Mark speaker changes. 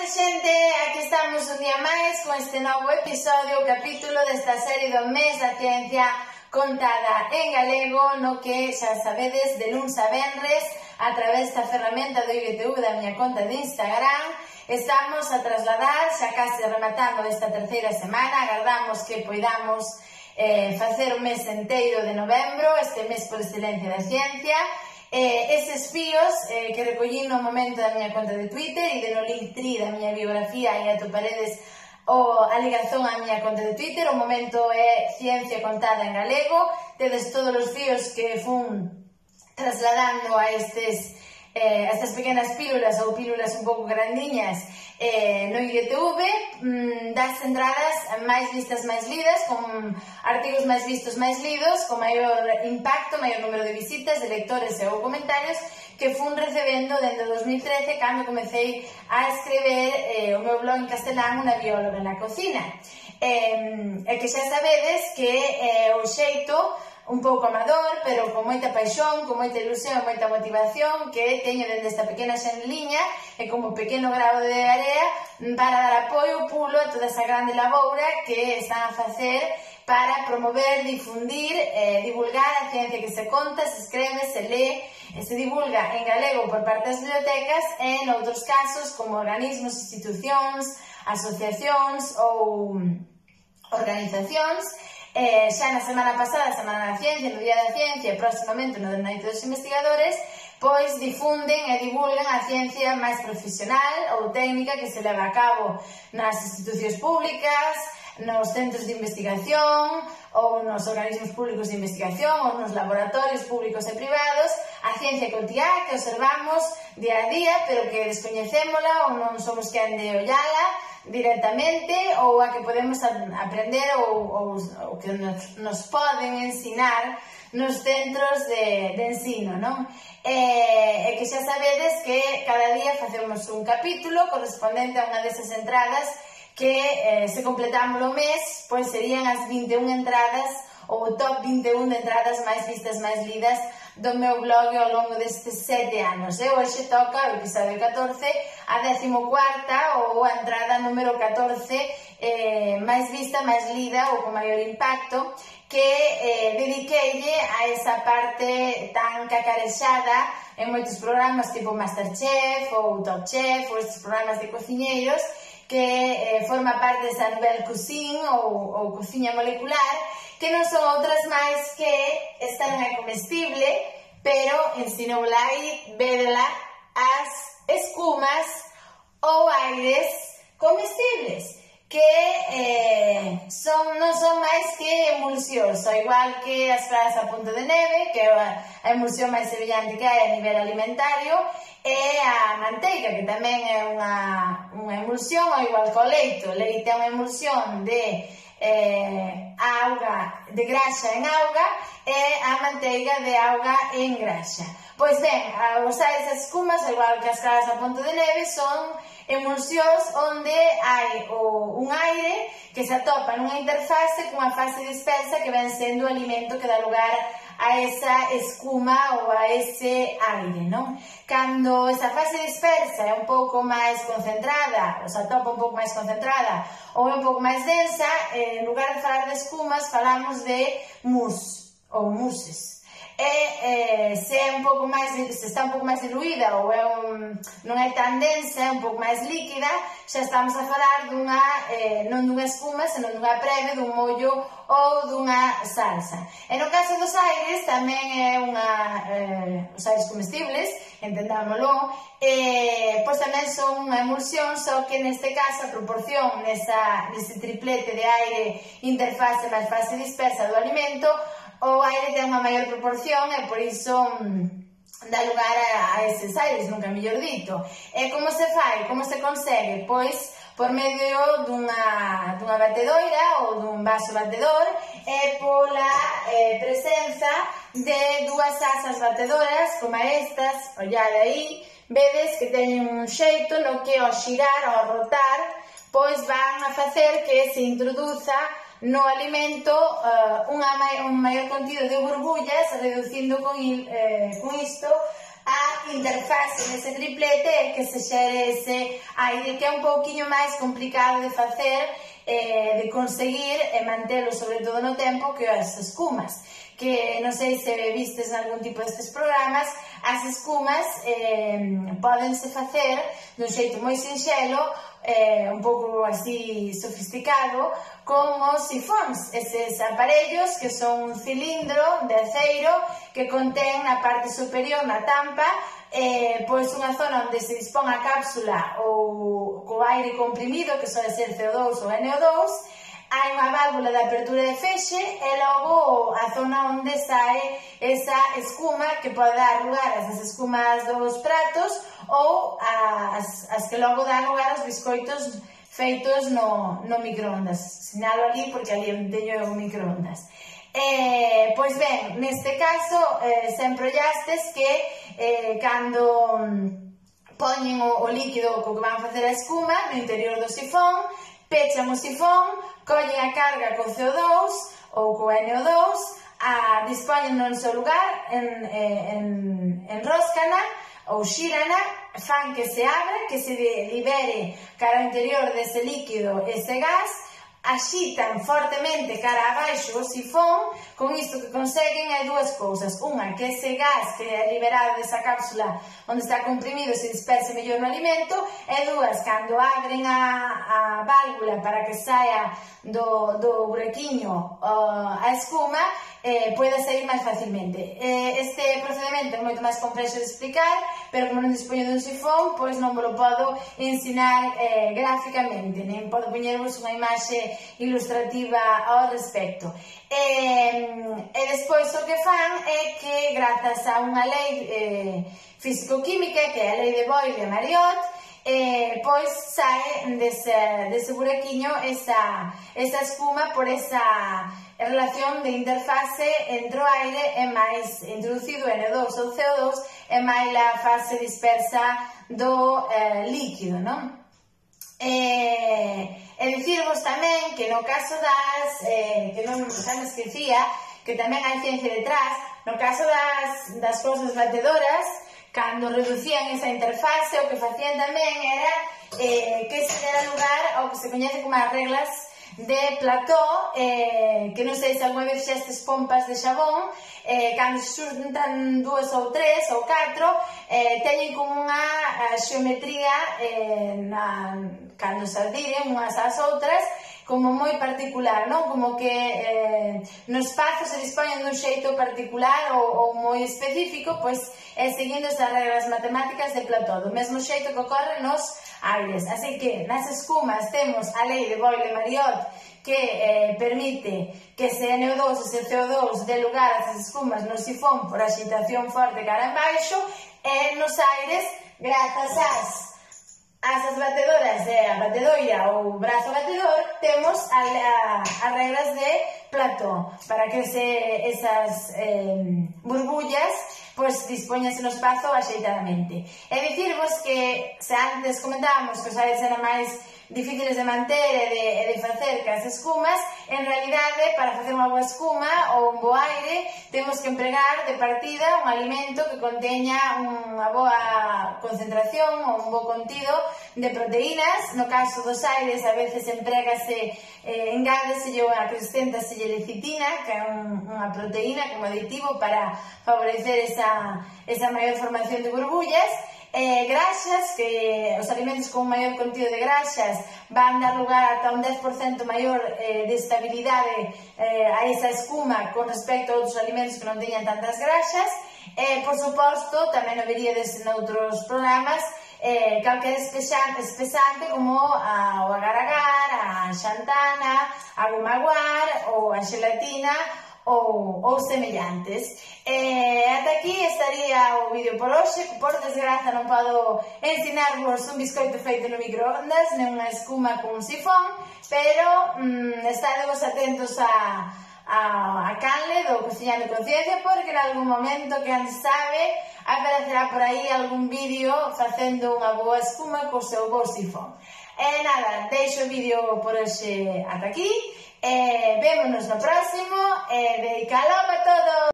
Speaker 1: xente, aquí estamos un día máis con este novo episodio, o capítulo desta serie do mes da ciencia contada en galego, no que xa sabedes de luns a venres a través da ferramenta do IGTV da miña conta de Instagram. Estamos a trasladar, xa case rematando esta terceira semana, agardamos que poidamos facer o mes enteiro de novembro, este mes por excelencia da ciencia. Eses fíos que recollín no momento da miña conta de Twitter e de no Linktree da miña biografía e atoparedes a ligazón á miña conta de Twitter. O momento é Ciencia Contada en Galego. Tedes todos os fíos que fun trasladando a estas pequenas pílulas ou pílulas un pouco grandiñas no IGTV, das entradas máis vistas, máis lidas, con artigos máis vistos, máis lidos, con maior impacto, maior número de visitas, de lectores e ou comentarios que fun recebendo dende 2013 cando comecei a escrever o meu blog en castelán, Unha bióloga na cocina. E que xa sabedes que o xeito un pouco amador, pero con moita paixón, con moita ilusión e moita motivación que teño dende esta pequena xenliña e como pequeno grao de area para dar apoio, pulo a toda esa grande laboura que están a facer para promover, difundir, divulgar a ciencia que se conta, se escreve, se lee e se divulga en galego por parte das bibliotecas e en outros casos como organismos, institucións, asociacións ou organizacións. Xa na semana pasada, Semana da Ciencia, no Día da Ciencia e próximamente no Noite dos Investigadores, pois difunden e divulgan a ciencia máis profesional ou técnica que se leva a cabo nas institucións públicas, nos centros de investigación ou nos organismos públicos de investigación ou nos laboratorios públicos e privados, a ciencia cotiá que observamos día a día pero que descoñecémola ou non somos quen de ollala directamente, ou a que podemos aprender ou que nos poden ensinar nos centros de ensino, non? E que xa sabedes que cada día facemos un capítulo correspondente a unha desas entradas que se completamos o mes, pois serían as 21 entradas ou o top 21 de entradas máis vistas, máis lidas do meu blog ao longo destes 7 anos. E hoxe toca o episodio 14, a 14ª ou a entrada número 14 máis vista, máis lida ou con maior impacto, que dediqueille a esa parte tan cacarexada en moitos programas tipo Masterchef ou Top Chef ou estes programas de cociñeiros que forma parte desa Nouvelle Cuisine ou cociña molecular, que non son outras máis que esta non é comestible, pero ensinoula aí vedela as escumas ou aires comestibles, que non son máis que emulsións, ao igual que as fragas a punto de neve, que é a emulsión máis semellante que hai a nivel alimentario, e a manteiga, que tamén é unha emulsión, ao igual que o leite. O leite é unha emulsión de auga, de graxa en auga, e a manteiga de auga en graxa. Pois ben, os aires das escumas, ao igual que as fragas a punto de neve, son emulsións onde hai un aire que se atopa nunha interfase cunha fase dispersa que ven sendo o alimento que dá lugar a esa escuma ou a ese aire, non? Cando esa fase dispersa é un pouco máis concentrada, ou se atopa un pouco máis concentrada ou é un pouco máis densa, en lugar de falar de escumas falamos de mousse ou mousses. E se está un pouco máis diluída ou non é tan densa, é un pouco máis líquida, xa estamos a falar non dunha espuma, senón dunha preve, dun mollo ou dunha salsa. E no caso dos aires tamén é os aires comestibles, entendámolo, pois tamén son unha emulsión, só que neste caso a proporción nese triplete de aire, interfase máis fase dispersa do alimento, o aire ten unha maior proporción e por iso dá lugar a eses aires, nunca mellor dito. E como se fai, como se consegue? Pois por medio dunha batedoira ou dun vaso batedor e pola presenza de dúas asas batedoras como estas, ollade aí, vedes que teñen un xeito no que ao xirar, ao rotar, pois van a facer que se introduza no alimento un maior contido de burbullas, reducindo con isto a interfase nese triplete e que se xere ese aire que é un pouquiño máis complicado de facer, de conseguir e mantelo sobre todo no tempo que as escumas, que non sei se vistes en algún tipo destes programas. As escumas pódense facer dun xeito moi sinxelo, un pouco así sofisticado, con os sifóns, eses aparellos que son un cilindro de aceiro que contén na parte superior, na tampa, pois unha zona onde se dispón a cápsula ou co aire comprimido, que sole ser CO2 ou NO2, hai unha válvula de apertura e fexe e logo a zona onde sae esa escuma que pode dar lugar a esas escumas dos pratos ou as que logo dan lugar aos biscoitos feitos no microondas. Sinalo ali porque ali teño o microondas. Pois ben, neste caso, sempre ollastes que cando poñen o líquido co que van facer a escuma no interior do sifón, pechan o sifón, collen a carga co CO2 ou co NO2, dispoñen no seu lugar, enróscana ou xírana, fan que se abra, que se libere cara ao interior dese líquido ese gas, axitan fortemente cara abaixo o sifón. Con isto que conseguen hai dúas cousas: unha, que ese gas que é liberado desa cápsula onde está comprimido se disperse mellor no alimento, e dúas, cando abren a válvula para que saia do buraquiño a escuma, pode sair máis facilmente. Este procedimento é moito máis complexo de explicar, pero como non dispoño dun sifón, pois non vos lo podo ensinar gráficamente, nem podo poñervos unha imaxe ilustrativa ao respecto. E despois o que fan é que, grazas a unha lei físico-química, que é a lei de Boyle-Mariotte, pois sae dese buraquiño esa escuma por esa relación de interfase entre o aire e máis introducido NO2 ou CO2 e máis a fase dispersa do líquido, non? E dicirvos tamén que no caso que non me esquecía, que tamén hai ciencia detrás, no caso das cousas batedoras, cando reducían esa interfase, o que facían tamén era que se dera lugar ao que se coñece como as reglas de Plató, que non sei se alguna vez xestes pompas de xabón, cando se xuntan 2 ou 3 ou 4, teñen como unha xeometría cando se adhiren unhas ás outras como moi particular, non? Como que no espazo se dispoñen dun xeito particular ou moi específico, pois seguindo esas reglas matemáticas de Plató, do mesmo xeito que ocorre nos aires. Así que nas escumas temos a lei de Boyle-Mariotte, que permite que ese NO2 e ese CO2 dé lugar a esas escumas no sifón por agitación forte cara en baixo, e nos aires, grazas as batedoras a batedoira ou brazo batedor, temos as reglas de Plató para que esas burbullas pois dispoñense no espazo axeitadamente. E dicirvos que se antes comentábamos que os aires eran máis difíciles de manter e de facer que as escumas, en realidade, para facer unha boa escuma ou un bo aire, temos que empregar de partida un alimento que conteña unha boa concentración ou un bo contido de proteínas. No caso dos aires, a veces empregase, engádeselle ou acrescéntaselle lecitina, que é unha proteína como aditivo para favorecer esa maior formación de burbullas. Graxas, que os alimentos con un maior contido de graxas van dar lugar ata un 10% maior de estabilidade a esa escuma con respecto a outros alimentos que non teñan tantas graxas. Por suposto, tamén o veríades noutros programas, calquera espesante como o agar-agar, a xantana, a goma-guar ou a xelatina ou semellantes. Ata aquí estaría o vídeo por hoxe. Por desgraza non podo ensinarvos un biscoito feito no microondas, nen unha escuma con un sifón, pero estaremos atentos a canle do Cociñando con Ciencia, porque en algún momento, que antes sabe, aparecerá por aí algún vídeo facendo unha boa escuma co seu bo sifón. Nada, deixo o vídeo por hoxe ata aquí. Vémonos no próximo. Dedicalo a todos.